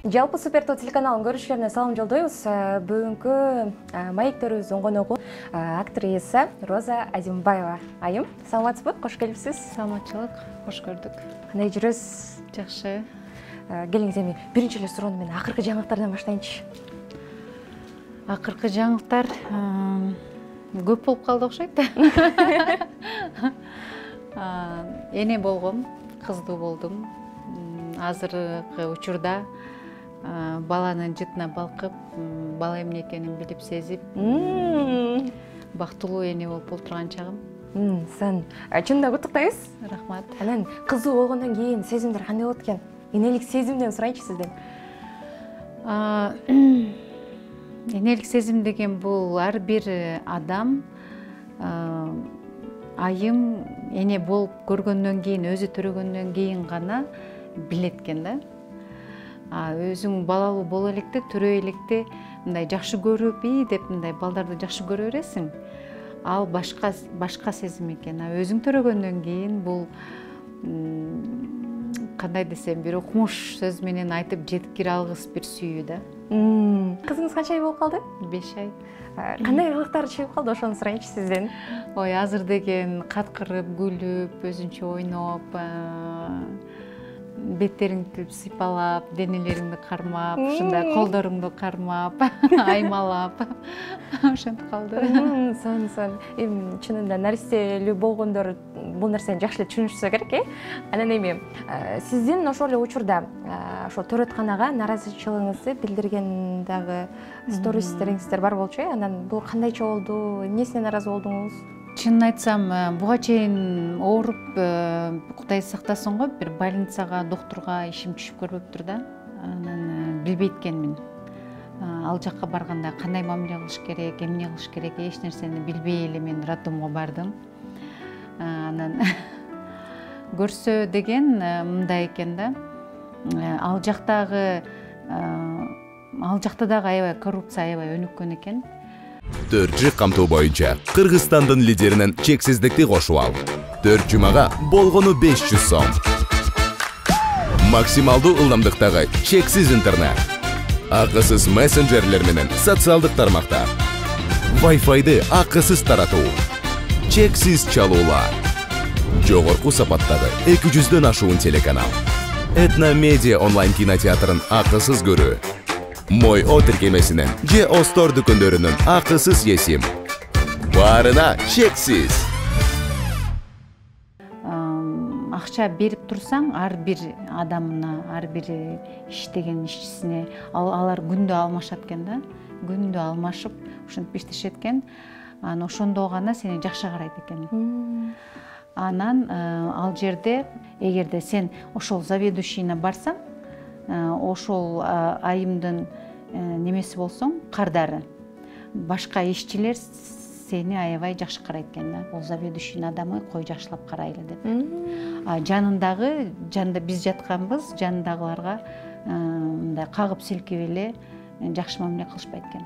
Жалпы Супертоо телеканалын көрүүчүлөрүнө салам жолдойбуз. Бүгүнкү маектörүбүздүн коногу актриса Роза Азимбаева. Айым, саламатсызбы? Кош келипсиз. Саламатчылык, кош көрдүк. Кандай жүрөсүз? Жакшы. Келиңиз, эми биринчи эле суроону мен акыркы жаңылыктардан баштайынчы. Акыркы жаңылыктар көп болуп калды окшойт. Эне болгом, кыздуу болдум. Азыркы учурда баланын жытына балкып, бала эмне экенин билип сезип, бактылуу эне болуп олтурган чагым. Сын чынында куттуктайбыз. Рахмат. Анан кыздуу болгондон кийин сезимдер кандай болот экен? Энелик сезимден сурайынчы сизден. Энелик сезим деген бул ар бир адам айым эне болуп көргөндөн кийин, өзү төрөгөндөн кийин гана билет экен да. Өзүң балалуу боло электе, төрө электе мындай жакшы көрүп, деп мындай балдарды жакшы көрө бересиң. Ал башка сезим экен. Өзүң төрөгөндөн кийин бул кандай десем, бир окумуш сөз менен айтып жеткире алгыс бир сүйүү да. Кызыңыз канча ай болуп калды? 5 ай. Кандай кылыктары чыгып калды, ошону сурайынчы сизден. Ой, азыр деген каткырып, күлүп, өзүнчө ойноп, беттериңди сыйпалап, денелериңди кармап, ушундай колдоруңду кармап, аймалап, ошентип калды. Сон. Эми чынында наристелүү болгондор бул нерсени жакшы эле түшүнүшсө керек, Анан эми сиздин ошол эле учурда ошол төрөтканага наразычылыгыңызды билдирген дагы стористериңиздер бар болчу, Анан бул кандайча болду? Эмнесине наразы болдуңуз? Чынын айтсам, буга чейин ооруп, Кудай сактасын го, бир больницага, доктурга ишим түшүп көрбөптүр да. Анан билбейт экенмин. Ал жакка барганда кандай мамиле кылыш керек, эмне кылыш керек, эч нерсени билбей эле мен роддомго бардым. Анан көрсө деген мындай экен да. Ал жакта дагы аябай коррупция аябай өнүккөн экен. Төрт камтоо боюнча Кыргызстандын лидеринен чексиздикти кошуп ал. 4 жумага болгону 500 сом. Максималдуу ылдамдыктагы чексиз интернет. Акысыз мессенджерлер менен социалдык тармактар. Wi-Fi'ды акысыз таратуу. Чексиз чалуулар. Жогорку сапаттагы 200дөн ашуун телеканал. Этно медиа онлайн кинотеатрын акысыз көрүү. Мой О тиркемесинен же Остор дүкөндөрүнүн акысыз есим. Баарына чексиз. Акча берип турсаң, ар бир адамына, ар бир иштеген ишчисине алар күндө алмашат экен да. Күндө алмашып, ушинтип иштешет экен. Анан ошондо гана сени жакшы карайт экен. Анан ал жерде эгерде сен ошол заведующийне барсаң, ошол айымдын немеси болсоң, кардары, башка ишчилер сени аябай жакшы карайт экен да. Бул заведующийдин адамы кой жакшылап карайлы деп. Жанындагы, биз жатканбыз, жанындагыларга мындай кагып силкеп эле жакшы мамиле кылышпайт экен.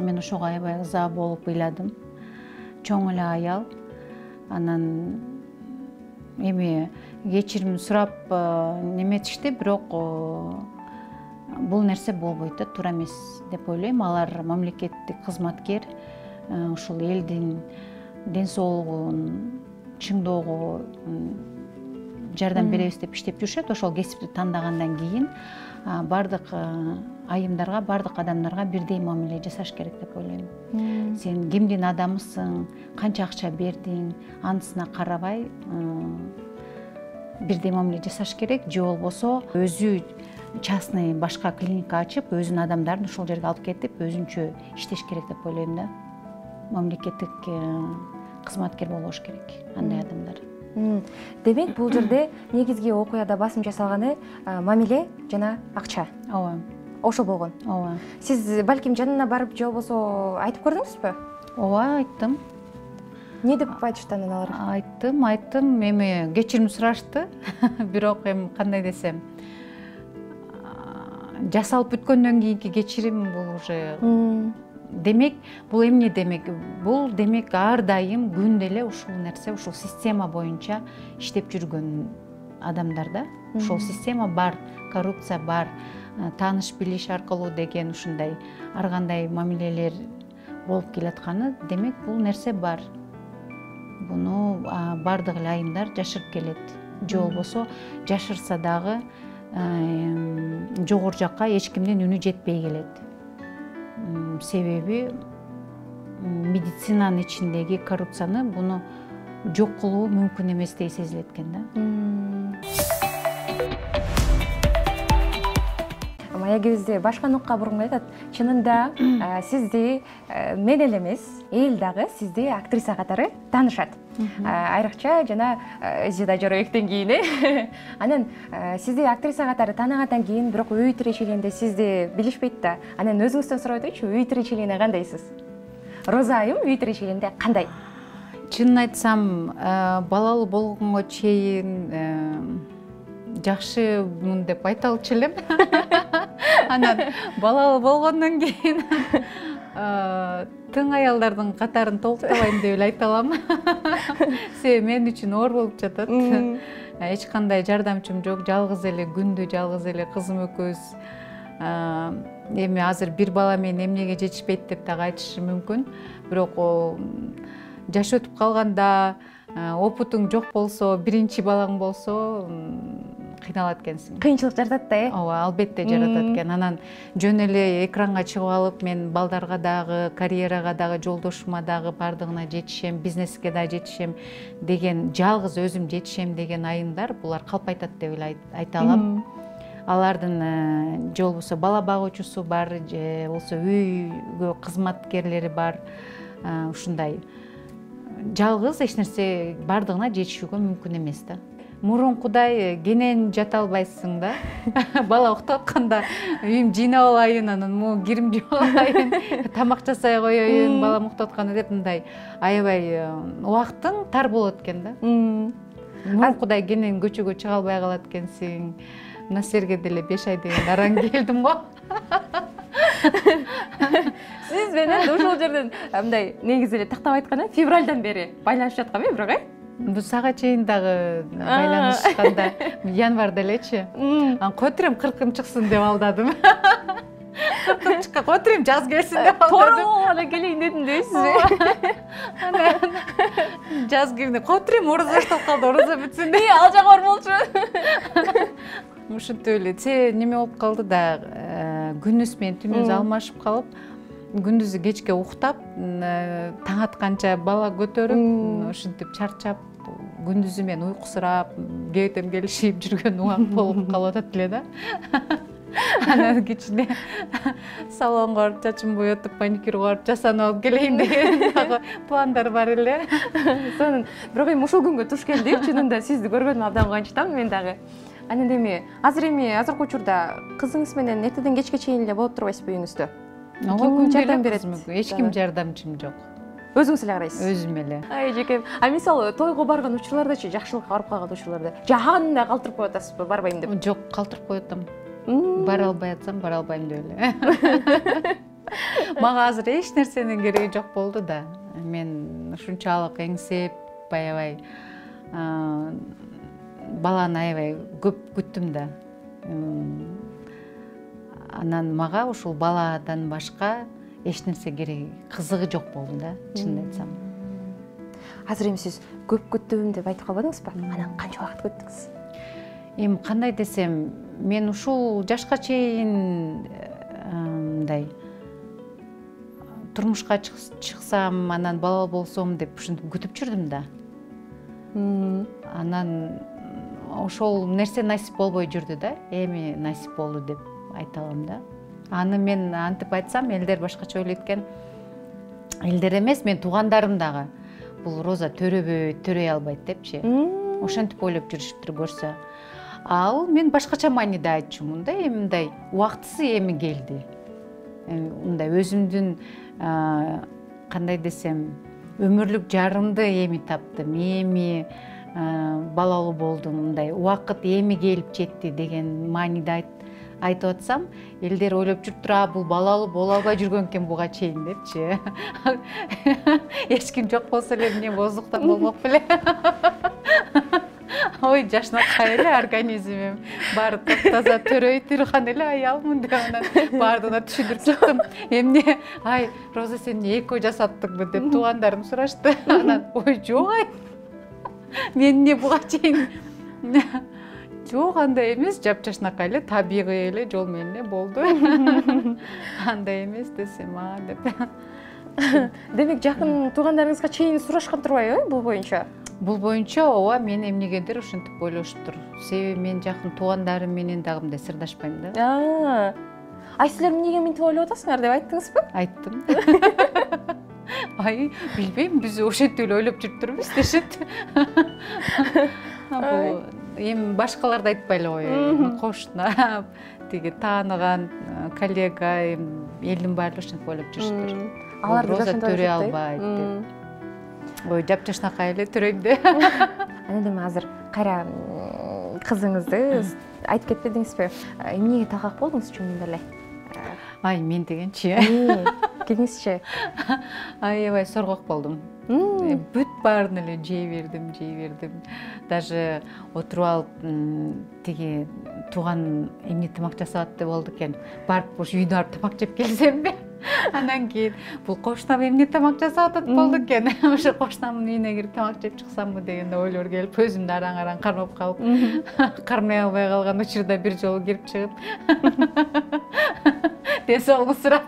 Мен ошого аябай ыза болуп ыйладым. Чоң эле аял. Анан эми кечирим сурап неметишти, бирок бул нерсе болбойт да, туура эмес деп ойлойм. Алар мамлекеттик кызматкер, ушул элдин ден соолугун чыңдоого жардам беребиз деп иштеп жүрүшөт. Ошол кесипти тандагандан кийин бардык айымдарга, бардык адамдарга бирдей мамиле жасаш керек деп ойлойм. Сен кимдин адамысың, канча акча бердиң, анысына карабай бирдей мамиле жасаш керек. Же болбосо өзү частный башка клиника ачып, өзүнүн адамдарын ошол жерге алып кетип, өзүнчө иштеш керек деп ойлойм да. Мамлекеттик кызматкер болбош керек андай адамдар. Демек, бул жерде негизги окуяда басым жасалганы мамиле жана акча. Ооба. Ошо болгон. Ооба. Сиз балким жанына барып, же болбосо айтып көрдүңүзбү? Ооба, айттым. Не деп айтышты анан алар? Айттым. Эми кечирим сурашты. Бирок эми кандай десем, жасалып бүткөндөн кийинки кечирим бул уже демек, бул эмне демек? Бул демек ар дайым күндө эле ушул нерсе, ушул система боюнча иштеп жүргөн адамдар да. Ушул система бар, коррупция бар. тааныш билиш аркылуу деген ушундай ар кандай мамилелер болуп келатканы, демек бул нерсе бар. Буну бардык эле айымдар жашырып келет. Же болбосо жашырса дагы жогору жакка эч кимдин үнү жетпей келет. Себеби медицинанын ичиндеги коррупцияны буну жок кылуу мүмкүн эместей сезилет экен да. Маягибизди башка нукка бургунга айтат. Чынында сизди мен эле эмес, эл дагы сизди актриса катары таанышат. Айрыкча жана Зида Жорабектен кийин анан сизди актриса катары тааныгандан кийин бирок үй тиричилигинде сизди билишпейт да. Анан өзүңүздөн сурап өтөйүнчү, үй тиричилигине кандайсыз? Роза айым үй тиричилигинде кандай? Чынын айтсам, балалуу болгонго чейин жакшымын деп айта алчу элем. Анан балалуу болгондон кийин тың аялдардын катарын толуктабайм деп эле айта алам. Себеби мен үчүн оор болуп жатат. Эч кандай жардамчым жок, жалгыз эле күндү жалгыз эле кызым экөөбүз. Эми азыр бир бала менен эмнеге жетишпейт деп дагы айтышы мүмкүн. Бирок жаш өтүп калганда, опутуң жок болсо, биринчи балаң болсо, кыйналат экенсиң. Кыйынчылык жаратат да, Ооба, албетте жаратат экен. Анан жөн эле экранга чыгып алып, мен балдарга дагы, карьерага дагы, жолдошума дагы бардыгына жетишем, бизнеске да жетишем деген, жалгыз өзүм жетишем деген айымдар булар калпайтат деп эле айта алам. Алардын же болбосо бала багуучусу бар, же болбосо үйгө кызматкерлери бар. Ушундай жалгыз эч нерсе бардыгына жетишүүгө мүмкүн эмес да. Мурункудай кенен жата албайсың да. Бала уктап атканда үйүм жыйнап алайын, анан кирим жууп алайын, тамак жасай коеюн, балам уктап атканда деп мындай аябай убактың тар болот экен да. Мурункудай кенен көчөгө чыга албай калат экенсиң. Мына силерге деле 5 ай деген араң келдим го. Сиз менен ошол жерден мындай негизи эле тактап айтканда февралдан бери байланышып жаткам бирок Бул сага чейин дагы байланышканда январда элечи. Которем 40-ым чыксын деп алдадым. 40-ым чыкка, которем жаз келсин деп алдадым. Тооролгона келейин дедим дейсизби? Анан жаз келди, которем ораза башталып калды, ораза бүтсүн деп. Ал жак бар болчу. Ушинтип эле неме болуп калды да, күнүс менен түнүбүз алмашып калып, күндүзү кечке уктап, таң атканча бала көтөрүп, ушинтип чарчап, күндүзү мен уйкусурап, кебетем келишип жүргөн убак болуп калып атат эле да. Анан кичине салонго барып, чачымды боетип, маникюр барып, жасанып алып келейин деген дагы пландар бар эле. Сонун, бирок эми ушул күнгө туш келдик, чынында сизди көргөнүмө абдан кубанычтамын мен дагы. Анан азыркы учурда кызыңыз менен эртеден кечке чейин эле болуп турбайсызбы үйүңүздө? Ким жардам берет? Эч ким жардамчым жок. Өзүңүз эле карайсыз? Өзүм эле. Ай жекем. Мисалы тойго барган учурлардачы, жакшылыкка барып калган учурларда жагандай калтырып коюп атасызбы, барбайм деп? Жок, калтырып коюп атам. Бара албай атсам, бара албайм деп эле. Мага азыр эч нерсенин кереги жок болду да. Мен ушунчалык эңсеп, аябай баланы аябай көп күттүм да. Анан мага ушул баладан башка эч нерсе кереги, кызыгы жок болду да, чынын айтсам. Азыр эми сиз көп күттүм деп айтып калбадыңызбы? Анан канча убакыт күттүңүз? Эми кандай десем, мен ушул жашка чейин мындай турмушка чыксам, анан бала болсом деп ушинтип күтүп жүрдүм да. Анан ошол нерсе насип болбой жүрдү да. Эми насип болду деп айта алам да. Аны мен антип айтсам, элдер башкача ойлойт экен. Элдер эмес, мен туугандарым дагы. Бул Роза төрөй албайт депчи. Ошентип ойлоп жүрүшүптүр көрсө. Ал мен башкача мааниде айтчумун да, эми мындай убактысы эми келди. Мындай өзүмдүн кандай десем, өмүрлүк жарымды эми таптым, эми балалуу болдум, мындай убакыт эми келип жетти деген мааниде айтып атсам, элдер ойлоп жүрүптүр, бул балалуу боло албай жүргөн экен буга чейин депчи. Эч ким жок болсо эле эмне боздуктан болмок беле. ой жашнакай эле организмим баары таптаза төрөй турган эле аялмын деп анан баардыгына түшүндүрүп чыктым. Эмне ай Роза сен эко жасаптыңбы деп туугандарым сурашты. Анан ой жок ай мен эмне буга чейин жок андай эмес, жапжашнакай эле табигый эле жол менен эле болду. Андай эмес десем деп. Демек жакын туугандарыңызга чейин сурашкан турбайбы бул боюнча? Бул боюнча ооба мен эмнегедир ушинтип ойлошуптур. Себеби мен жакын туугандарым менен дагы мындай сырдашпайм да. Ай силер эмнеге мынтип ойлоп атасыңар деп айттыңызбы? Айттым. Ай билбейм, биз ошентип эле ойлоп жүрүптүрбүз дешет. Бул эми башкаларды айтпай эле коеюн. Кошуна, тиги тааныган коллега, элдин баары ошентип ойлоп жүрүштүр. Алар Роза төрөй албайт деп. Ой, жапжашнакай эле төрөйм де. Анан эми азыр кайра кызыңызды айтып кетпедиңизби? Эмнеге талкак болдуңуз чынында эле? Ай, мен дегенчи. Кеңесчи. Аябай соргок болдум. Бүт баарын эле жей бердим. Даже отуруп алып тиги тууган эмне тамак жасап атты болду экен. Барып ушу үйдө барып тамак жеп келсемби? Анан кийин бул кошунам эмне тамак жасап атат болду экен. Ошо кошунамдын үйүнө кирип тамак жеп чыксамбы деген ойлор келип, өзүмдү араң кармап калып, кармай албай калган учурда бир жолу кирип чыгып ден соолугун сурап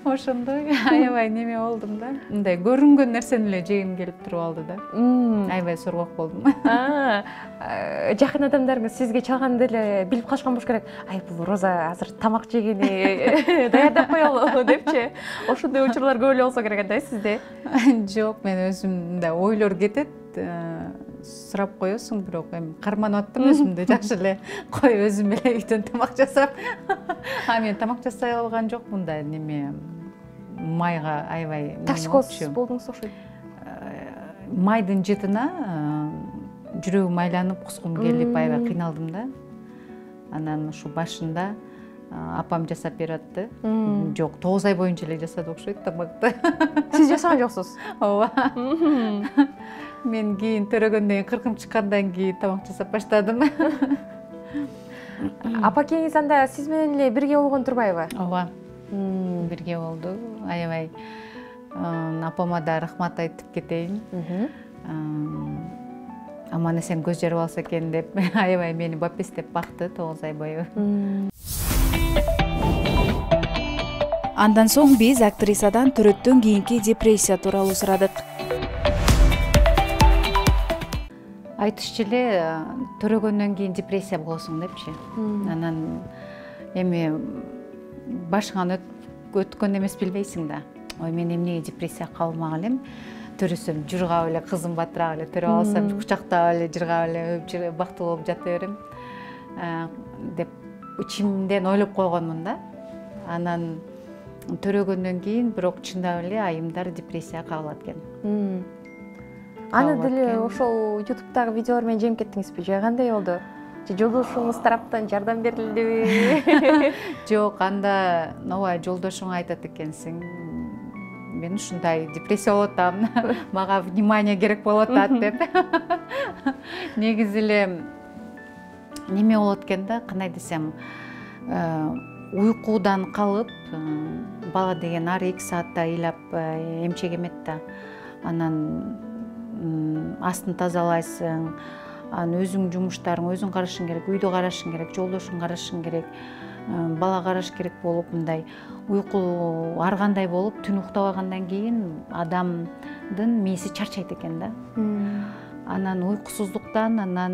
ошондой аябай неме болдум да. Мындай көрүнгөн нерсени эле жегим келип туруп алды да. Аябай соргок болдум. Жакын адамдарыңыз сизге чалганда эле билип калышкан болуш керек. Ай бул Роза азыр тамак жегени даярдап коелу депчи. Ошондой учурлар көп эле болсо керек да сизде. Жок, мен өзүм мындай ойлор кетет. Сурап коесуң, бирок эми карманып аттым өзүмдү жакшы эле. Кой өзүм эле үйдөн тамак жасап. Мен тамак жасай алган жокмун да, неме майга аябай токсикоз болдуңуз окшойт. Майдын жытына жүрөгүм айланып, кускум келип аябай кыйналдым да. Анан ушу башында апам жасап берип атты. Жок, 9 ай боюнча эле жасады окшойт тамакты. Сиз жасаган жоксуз? Ооба. Мен кийин төрөгөндөн кийин 40-ым чыккандан кийин тамак жасап баштадым. Апакеңиз анда сиз менен эле бирге болгон турбайбы? Ооба. Бирге болду. Аябай апама да рахмат айтып кетейин. Аман эсен көз жарып алса экен деп аябай мени бапестеп бакты 9 ай бою. Андан соң биз актрисадан төрөттөн кийинки депрессия тууралуу сурадык. Айтышчу эле төрөгөндөн кийин депрессия болосуң депчи. Анан эми башыңан өткөн эмес билбейсиң да. Ой, мен эмнеге депрессияга кабылмак элем? Төрөсөм, жыргап эле, кызым батырап эле төрөп алсам, кучактап эле, жыргап эле, өп бактылуу болуп жата берем деп ичимден ойлоп койгонмун да. Анан төрөгөндөн кийин бирок чындап эле айымдар депрессияга кабылат экен. Аны деле ошол YouTube'дагы видеолор менен жеңип кеттиңизби? Же кандай болду? Же жолдошуңуз тараптан жардам берилдиби? Жок, анда ооба жолдошуң айтат экенсиң. Мен ушундай депрессия болуп атам. Мага внимание керек болуп атат деп. Негизи эле неме болот экен да, кандай десем, уйкудан калып, бала деген ар 2 саатта ыйлап эмчек эмет да. Анан астын тазалайсың, анан өзүң жумуштарың өзүң карашың керек, үйдө карашың керек, жолдошуң карашың керек, бала караш керек болуп, мындай уйку ар кандай болуп, түн уктабагандан кийин адамдын мээси чарчайт экен да. Анан уйкусуздуктан, анан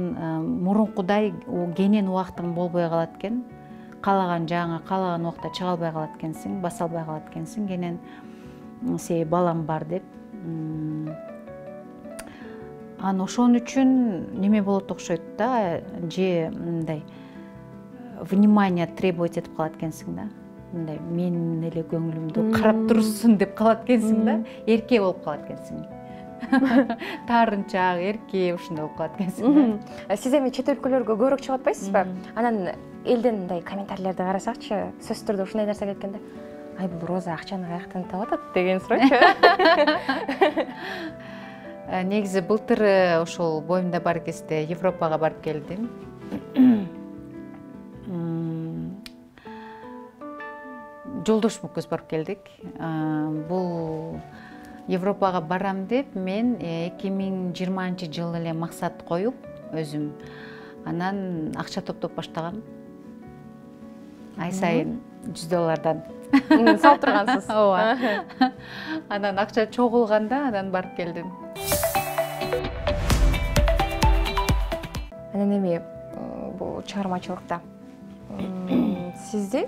мурункудай кенен убактың болбой калат экен. Каалаган жагыңа каалаган убакта чыга албай калат экенсиң, баса албай калат экенсиң, кенен себеби балам бар деп. Анан ошон үчүн неме болот окшойт да, же мындай внимание требовать этип калат экенсиң да. Мындай менин эле көңүлүмдү карап турсун деп калат экенсиң да. Эрке болуп калат экенсиң. Таарынчаак, эрке ушундай болуп калат экенсиң. Сиз эми чет өлкөлөргө көбүрөөк чыгып атпайсызбы? Анан элден мындай комментарийлерди карасакчы, сөзсүз түрдө ушундай нерсе кеткенде, ай бул Роза акчаны каяктан таап атат деген суройчу. Негизи былтыр ошол боюмда бар кезде Европага барып келдим. Жолдошум экөөбүз барып келдик. Бул Европага барам деп мен 2020-жылы эле максат коюп өзүм анан акча топтоп баштагам. Ай сайын $100 салып тургансыз. Ооба. Анан акча чогулганда анан барып келдим. Анан эми бул чыгармачылыкта сизди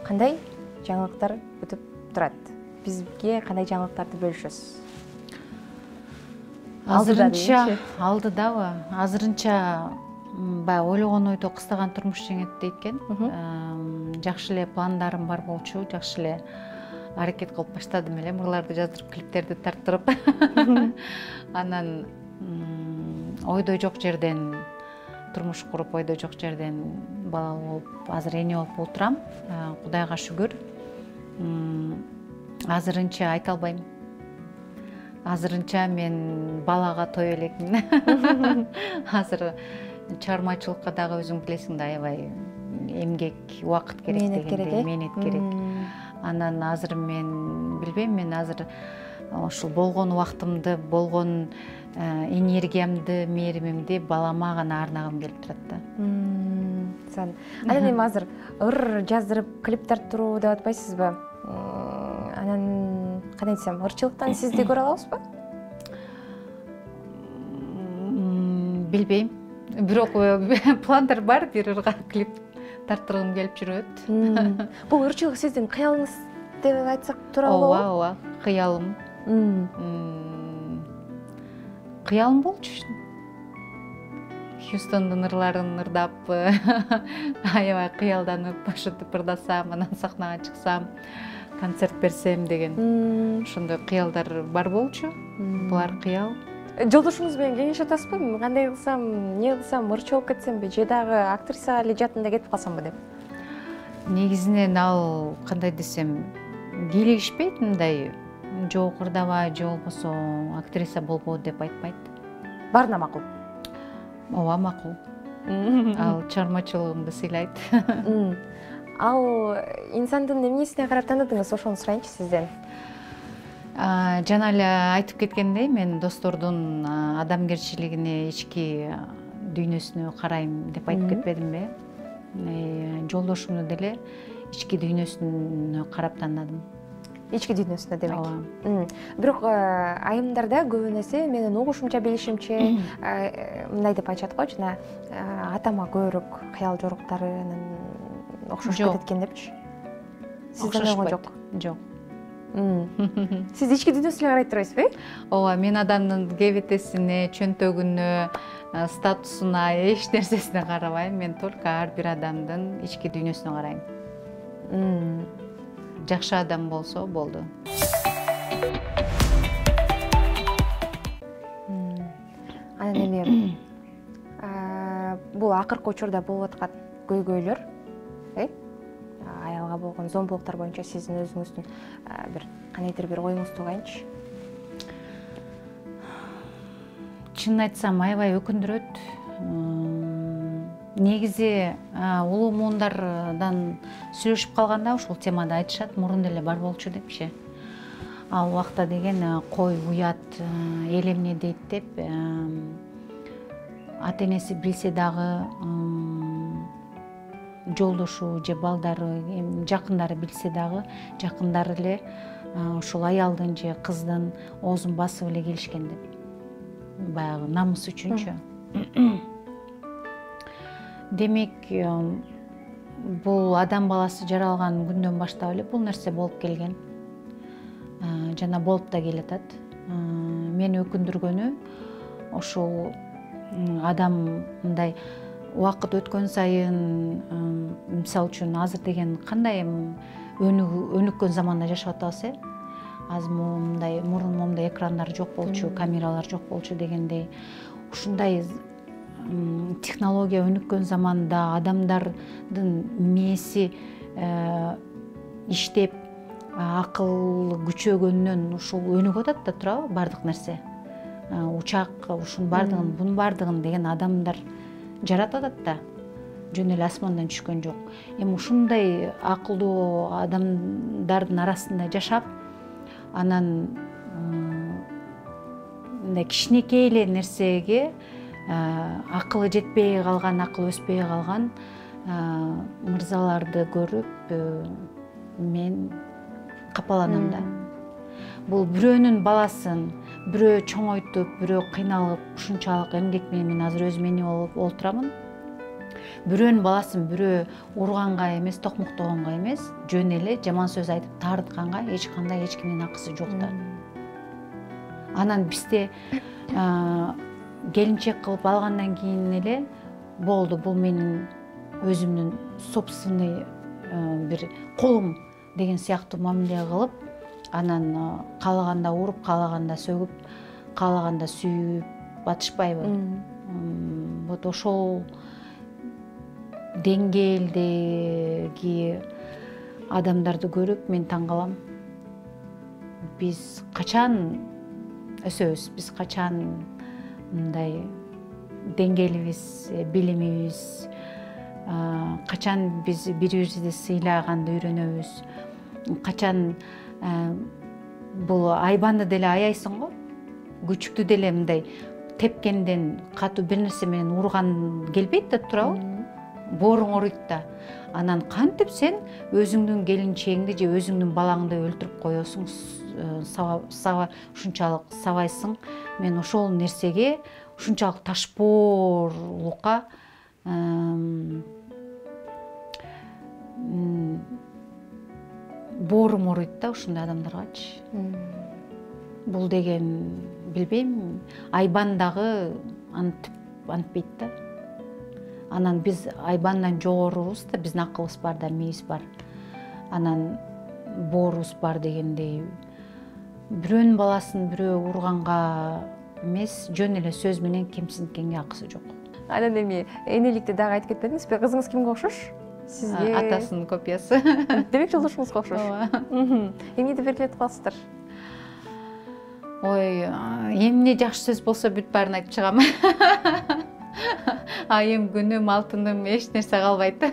кандай жаңылыктар күтүп турат? Бизге кандай жаңылыктарды бөлүшөсүз? Алдыдабы? Азырынча баягы ойлогон ойдо кыстаган турмуш жеңет дейт экен. Жакшы эле пландарым бар болчу, жакшы эле аракет кылып баштадым эле, мырларды жаздырып, клиптерди тарттырып. Анан ойдой жок жерден турмуш куруп, ойдой жок жерден бала болуп, азыр эне болуп отурам. Кудайга шүгүр. Азырынча айта албайм. Азырынча мен балага той элекмин. Азыр чыгармачылыкка дагы өзүң билесиң да, аябай эмгек, убакыт керек дегендей, мээнет керек. Анан азыр мен билбейм, мен азыр ушул болгон убактымды, болгон энергиямды, мээримимди балама гана арнагым келип турат да. Анан эми азыр ыр жаздырып, клип тарттыруу деп атпайсызбы? Анан кандай десем, ырчылыктан сизди көрө алабызбы? Билбейм. Бирок пландар бар, бир ырга клип тарттыргым келип жүрөт. Бул ырчылык сиздин кыялыңыз деп айтсак туура болобу? Ооба, кыялым. Кыялым болчу. Хьюстондун ырларын ырдап, аябай кыялданып, ошентип ырдасам, анан сахнага чыксам, концерт берсем деген ошондой кыялдар бар болчу. Булар кыял. Жолдошуңуз менен кеңеш атасызбы? Кандай кылсам, эмне кылсам, ырчы болуп кетсемби, же дагы актрисага эле жаатында кетип калсамбы деп? Негизинен ал кандай десем, кийлигишпейт мындай. Жок ырдабай, же болбосо актриса болбоо деп айтпайт. Баарына макул. Ооба, макул. Ал чыгармачылыгымды сыйлайт. Ал инсандын эмнесине карап таныдыңыз, ошону сурайынчы сизден. Жана эле айтып кеткендей, мен достордун адамгерчилигине, ички дүйнөсүнө карайм деп айтып кетпедимби? Жолдошумду деле ички дүйнөсүнө карап таанадым. Ички дүйнөсүнө демек. Бирок айымдарда көбүнесе менин угушумча, билишимче мындай деп айтышат го, жана атама көбүрөөк кыял жоруктары анан окшошуп кетет экен депчи. Сизде ошол жок? Жок. Сиз ички дүйнөсүнө карай турасызбы? Ооба, мен адамдын кебетесине, чөнтөгүнө, статусуна, эч нерсесине карабайм. Мен только ар бир адамдын ички дүйнөсүнө карайм. Жакшы адам болсо болду. Анан эми бул акыркы учурда болуп аткан көйгөйлөр, аялга болгон зомбулуктар боюнча сиздин өзүңүздүн бир кандайдыр бир оюңузду угайынчы. Чынын айтсам, аябай өкүндүрөт. Негизи улуу муундардан сүйлөшүп калганда ушул темада айтышат, мурун деле бар болчу депчи. Ал убакта деген кой, уят, эл эмне дейт деп ата энеси билсе дагы, жолдошу же балдары, жакындары билсе дагы, жакындары эле ушул аялдын же кыздын оозун басып эле келишкен деп. Баягы намыс үчүнчү. Демек, бул адам баласы жаралган күндөн баштап эле бул нерсе болуп келген. Жана болуп да келатат. Мени өкүндүргөнү ошол адам мындай убакыт өткөн сайын, мисалы үчүн азыр деген кандай өнүккөн заманда жашап атабыз, азыр мындай мурун момундай экрандар жок болчу, камералар жок болчу дегендей. Ушундай технология өнүккөн заманда адамдардын мээси иштеп, акыл күчөгөндөн ушул өнүгүп атат да туурабы баардык нерсе. Учак ушунун баардыгын, бунун баардыгын деген адамдар жаратып атат да. Жөн эле асмандан түшкөн жок. Эми ушундай акылдуу адамдардын арасында жашап, анан мындай кичинекей эле нерсеге акылы жетпей калган, акыл өспөй калган мырзаларды көрүп мен капаланам да. Бул бирөөнүн баласын бирөө чоңойтуп, бирөө кыйналып, ушунчалык эмгек менен мен азыр өзүм эне болуп олтурамын. Бирөөнүн баласын бирөө урганга эмес, токмоктогонго эмес, жөн эле жаман сөз айтып таарытканга эч кандай эч кимдин акысы жок да. Анан бизде келинчек кылып алгандан кийин эле болду, бул менин өзүмдүн собственный бир колум деген сыяктуу мамиле кылып, анан каалаганда уруп, каалаганда сөгүп, каалаганда сүйүп атышпайбы. Вот ошол деңгээлдеги адамдарды көрүп мен таң калам. Биз качан өсөбүз, биз качан мындай деңгээлибиз, билимибиз, качан биз бири-бирибизди сыйлаганды үйрөнөбүз, качан бул айбанды деле аяйсың го, күчүктү деле мындай тепкенден, катуу бир нерсе менен урган келбейт да туурабы, бооруң ооруйт да. Анан кантип сен өзүңдүн келинчегиңди же өзүңдүн балаңды өлтүрүп коесуң, ушунчалык сабайсың. Мен ошол нерсеге, ушунчалык ташпоорлукка боорум ооруйт да ушундай адамдаргачы. Бул деген билбейм, айбан дагы антпейт да. Анан биз айбандан жогорубуз да, биздин акылыбыз бар да, мээбиз бар. Анан боорубуз бар дегендей. Бирөөнүн баласын бирөө урганга эмес, жөн эле сөз менен кемсинткенге акысы жок. Анан эми энеликти дагы айтып кетпедиңизби? Кызыңыз кимге окшош? Сизге атасынын копиясы. Демек жолдошуңузга окшош. Эмнеди белгилетип каласыздар? Ой, эмне жакшы сөз болсо бүт баарын айтып чыгам. Айым, күнүм, алтыным, эч нерсе калбайт.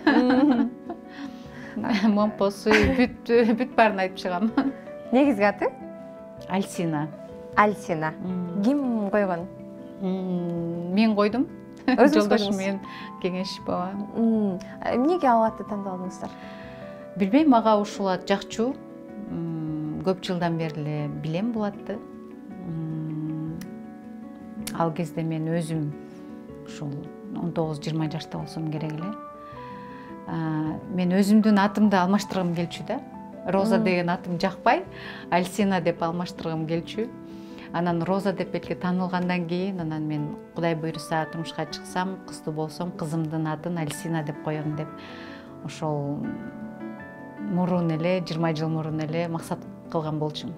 Момпосу, бүт баарын айтып чыгам. Негизги аты? Альсина. Альсина. Ким койгон? Мен койдум. Жолдошум менен кеңешип баба. Эмнеге ал атты тандадыңыздар? Билбейм, мага ушул ат жакчу. Көп жылдан бери эле билем бул атты. Ал кезде мен өзүм ушул 19-20 жашта болсом керек эле. Мен өзүмдүн атымды алмаштыргым келчү да. Роза деген атым жакпай, Альсина деп алмаштыргым келчү. Анан Роза деп белки таанылгандан кийин, анан мен Кудай буйруса турмушка чыксам, кыздуу болсом, кызымдын атын Альсина деп коем деп ошол мурун эле, 20 жыл мурун эле максат кылган болчумун.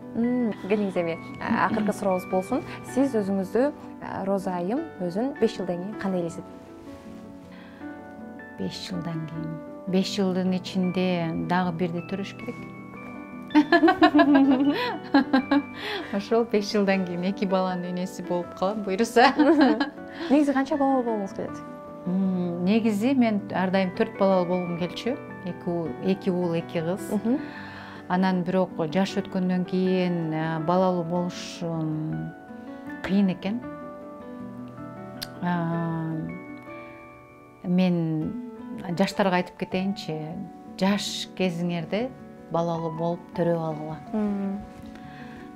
Келиңиз эми акыркы сурообуз болсун. Сиз өзүңүздү Роза айым өзүн 5 жылдан кийин кандай элестет? 5 жылдан кийин. 5 жылдын ичинде дагы бирди төрөш керек. Ошол 5 жылдан кийин 2 баланын энеси болуп калам, буйруса. Негизи канча балалуу болгуңуз келет? Негизи мен ар дайым 4 балалуу болгум келчү. 2 уул, 2 кыз. Анан бирок жаш өткөндөн кийин балалуу болуш кыйын экен. Мен жаштарга айтып кетейинчи, жаш кезиңерде балалуу болуп төрөп алгыла.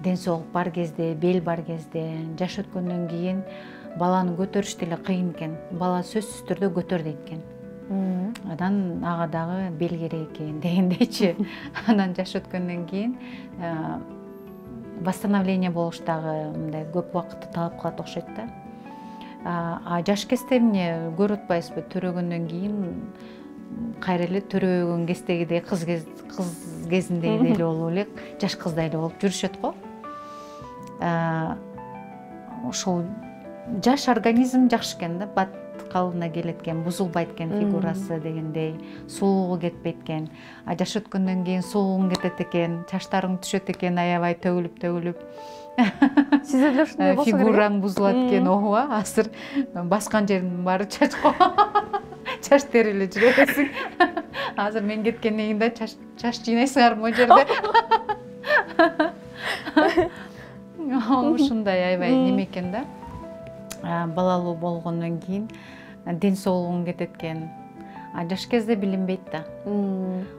Ден соолук бар кезде, бел бар кезде, жаш өткөндөн кийин баланы көтөрүш деле кыйын экен. Бала сөзсүз түрдө көтөр дейт экен. Анан ага дагы бел керек экен дегендейчи. Анан жаш өткөндөн кийин восстановление болуш дагы мындай көп убакытты талап кылат окшойт да. Жаш кезде эмне көрүп атпайсызбы, төрөгөндөн кийин кайра эле төрөгөн кездегидей, кыз кезиндегидей эле болуп элек, жаш кыздай эле болуп жүрүшөт го. Ошол жаш организм жакшы экен да, калыбына келет экен, бузулбайт экен фигурасы дегендей, сулуугу кетпейт экен. А жаш өткөндөн кийин сулууң кетет экен, чачтарың түшөт экен аябай төгүлүп. Сизде деле ушундай болсо керек. Фигураң бузулат экен, ооба, азыр баскан жердин баары чачко. Чач териле жүрө бересиң. Азыр мен кеткенден кийин да чач жыйнайсыңар могу жерде. Ушундай аябай неме экен да. Балалуу болгондон кийин ден соолугуң кетет экен. Жаш кезде билинбейт да.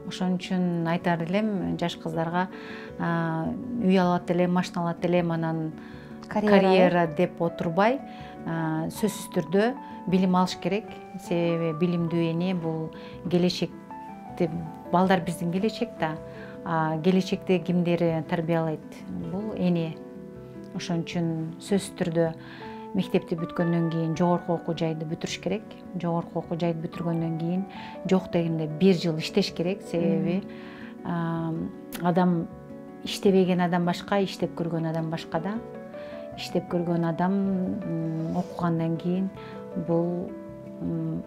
Ошон үчүн айтар элем жаш кыздарга үй алат элем, машина алат элем, анан карьера деп отурбай, сөзсүз түрдө билим алыш керек. Себеби билимдүү эне бул келечекте, балдар биздин келечек да. Келечекте кимдери тарбиялайт? Бул эне. Ошон үчүн сөзсүз түрдө мектепти бүткөндөн кийин жогорку окуу жайды бүтүрүш керек. Жогорку окуу жайды бүтүргөндөн кийин жок дегенде 1 жыл иштеш керек. Себеби адам иштебеген адам башка, иштеп көргөн адам башка да. Иштеп көргөн адам окугандан кийин бул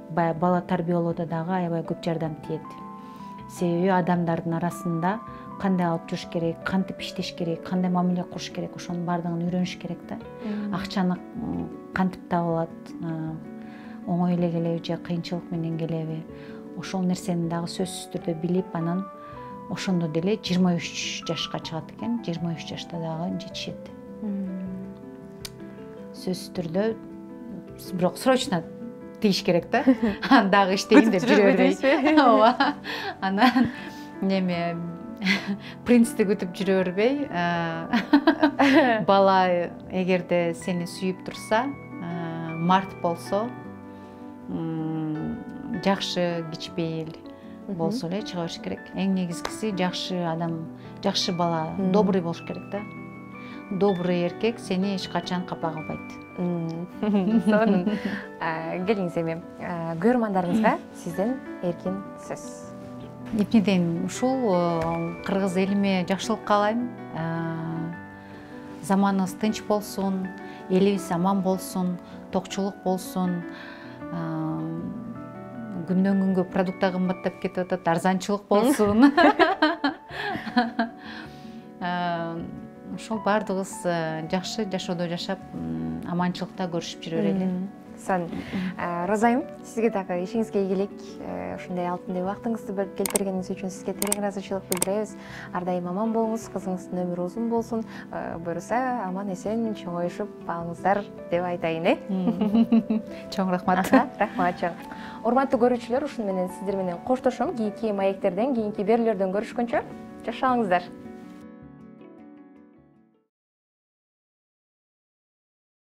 бала тарбиялоодо дагы аябай көп жардам тиет. Себеби адамдардын арасында кандай алып жүрүш керек, кантип иштеш керек, кандай мамиле кылыш керек, ошонун баардыгын үйрөнүш керек да. Акчаны кантип табылат, оңой эле келеби же кыйынчылык менен келеби, ошол нерсени дагы сөзсүз түрдө билип, анан ошондо деле 23 жашка чыгат экен, 23 жашта дагы жетишет. Сөзсүз түрдө, бирок срочно тийиш керек да. Дагы иштейин деп жүрө бербей. Ооба. Анан неме принцти күтүп жүрө бербей, бала эгерде сени сүйүп турса, март болсо, жакшы кичпейил болсо эле чыга бериш керек. Эң негизгиси жакшы адам, жакшы бала, добрый болуш керек да. Добрый эркек сени эч качан капа кылбайт. Сонун. Келиңиз эми көрөрмандарыбызга сизден эркин сөз. Эпнеден ушул кыргыз элиме жакшылык каалайм. Заманыбыз тынч болсун, элибиз аман болсун, токчулук болсун. Күндөн күнгө продукт кымбаттап кетип атат, арзанчылык болсун. Ошол баардыгыбыз жакшы жашоодо жашап, аманчылыкта көрүшүп жүрө берели. Сон, Роза айым, сизге дагы ишиңизге ийгилик, ушундай алтындай убактыңызды бөлүп келтиргениңиз үчүн сизге терең ыраазычылык билдиребиз. Ар дайым аман болуңуз, кызыңыздын өмүрү узун болсун, буюрса аман эсен чоңоюшуп алыңыздар деп айтайын, Чоң рахмат. Рахмат чоң. Урматтуу көрүүчүлөр, ушуну менен сиздер менен коштошом. Кийинки маектерден, кийинки берүүлөрдөн көрүшкөнчө жашаңыздар.